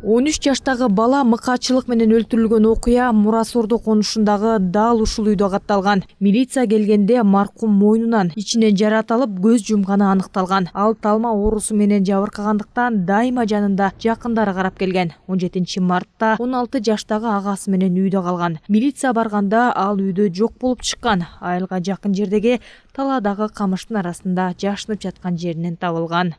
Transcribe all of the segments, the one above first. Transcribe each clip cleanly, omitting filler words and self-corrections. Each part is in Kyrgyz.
13 жаштагы бала мыкаачылык менен өлтүрүлгөн окуя Мурас Ордо конушундагы дал ушул үйдө катталган. Милиция келгенде маркум мойнунан ичинен жараат алып көз жумганы аныкталган. Ал талма оорусу менен жабыркагандыктан дайыма жанында жакындары карап келген. 17 мартта 16 жаштагы агасы менен үйдө калган. Милиция барганда ал үйдө жок болуп чыккан. Айылга жакын жердеги талаадагы камыштын арасында жашынып жаткан жеринен табылган.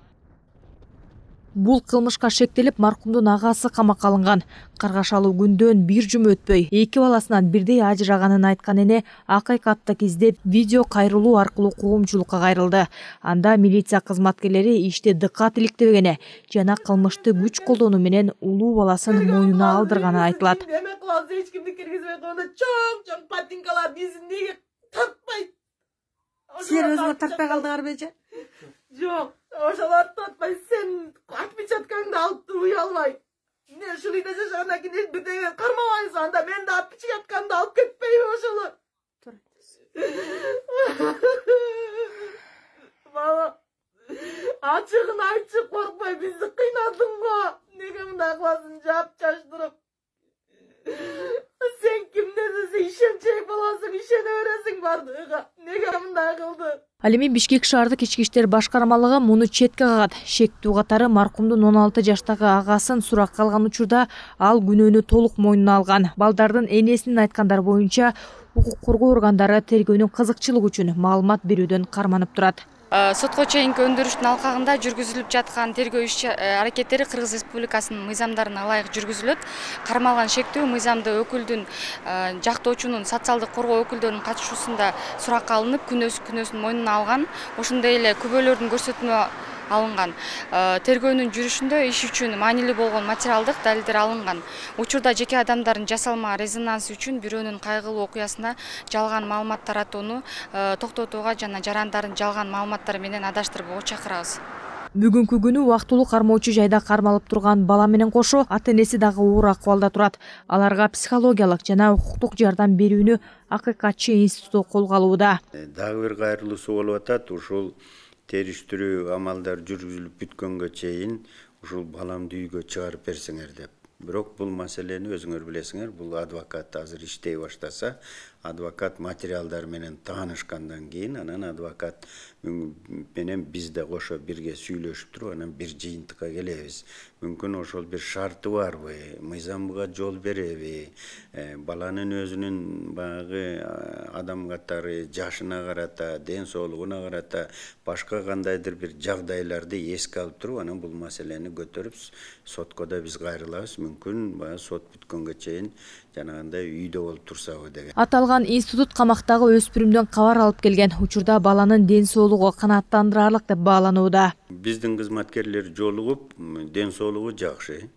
Бул кылмышка шектелип маркумдун агасы камакка алынган. Каргашалуу күндөн бир жума өтпөй, эки баласынан бирдей ажыраганын айткан эне акыйкатты издеп видео кайрылуу аркылуу коомчулукка кайрылды. Анда милиция кызматкерлери иште дыккат иликтебегени жана кылмышты күч колдонуу менен улуу баласын мойнуна алдырганы айтылат. Эч кимди киргизбей койгондо чоң патинкалар бизин неге тартпайт? Силер өзүңөр тартпай калдыңарбы эже? Жок, ошолор тартпай, сен отпечаткаңды алып туруп уялбай. Эмне ушул үйдө жашагандан кийин бирдеме кармабайсың, анда мен да отпечаткамды алып кетпейби ошолор? Бала, ачыгын айтчы, коркпой, бизди кыйнадың го. Неге мындай кыласың, жаап чачтырып? Сен кимдесиң, ишенчек болосуң, ишене бересиң бардыгыга. Неге мындай кылды? Ал эми Бишкек шаардык ички иштер башкармалыгы муну четке кагат. Шектүү катары маркумдун 16 жаштагы агасын суракка алган учурда ал күнөөнү толук мойнуна алган. Балдардын энесинин айткандары боюнча, укук коргоо органдары тергөөнүн кызыкчылыгы үчүн маалымат берүүдөн карманып турат. Сотко чейинки өндүрүштүн алкагында жүргүзүлүп жаткан тергөө иш аракеттери Кыргыз Республикасынын мыйзамдарына ылайык жүргүзүлөт. Кармалган шектүү мыйзамды өкүлдүн жактоочунун социалдык коргоо өкүлдөрүнүн катышуусунда суракка алынып, күнөөсүн мойнуна алган. Ошондой эле күбөлөрдүн көрсөтмө алынган. Тергөөнүн жүрүшүндө иш үчүн маанилүү болгон материалдык далилдер алынган. Учурда жеке адамдардын жасалма резонансы үчүн бирөөнүн кайгылуу окуясына жалган маалымат таратууну токтотууга жана жарандардын жалган маалыматтары менен адаштырбоого чакырабыз. Бүгүнкү күнү убактылуу кармоочу жайда кармалып турган бала менен кошо ата-энеси дагы оор акыбалда турат. Аларга психологиялык жана укуктук жардам берүүнү Акыйкатчы институту колго алууда. Дагы бир кайрылуусу болуп атат. Ушул териштирүү амалдар жүргүзүлүп бүткөнгө чейин ушул баламды үйгө чыгарып берсеңер деп. Бирок бул маселени өзүңөр билесиңер, бул адвокат азыр иштей баштаса, адвокат материалдар менен таанышкандан кийин, анан адвокат менен биз да кошо бирге сүйлөшүп туруп, анан бир жыйынтыкка келебиз. Мүмкүн ошол бир шарты барбы, мыйзамга жол береби, баланын өзүнүн баягы адам катары жашына карата, ден соолугуна карата башка кандайдыр бир жагдайларды эске алып туруп, анан бул маселени көтөрүп сотко да биз кайрылабыз. Мүмкүн баягы сот бүткөнгө чейин жанагындай үйдө болуп турсабы деген. Аталган институт камактагы өспүрүмдөн кабар алып келген. Учурда баланын ден соолугу канааттандырарлык деп бааланууда. Биздин кызматкерлер жолугуп, ден соолугу жакшы.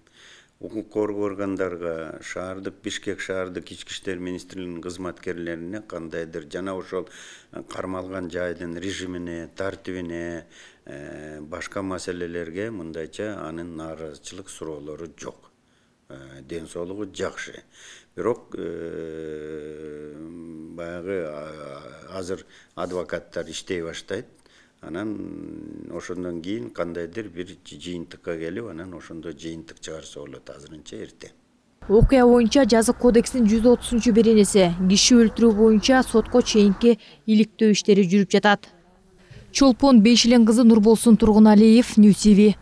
Укук коргоо органдарга, шаардык Бишкек шаардык ички иштер министрлигинин кызматкерлерине кандайдыр жана ошол кармалган жайдын режимине, тартибине, башка маселелерге мындайча анын нааразычылык суроолору жок. Ден соолугу жакшы. Бирок баягы азыр адвокаттар иштей баштайт. Анан ошондон кийин кандайдыр бир жыйынтыкка келип, анан ошондо жыйынтык чыгарса болот, азырынча эрте. Окуя боюнча жазык кодексинин 130-беренеси киши өлтүрүү боюнча сотко чейинки иликтөө иштери жүрүп жатат. Чолпон Бейшилен кызы Нурболсун Тургуналиев, Ньюс TV.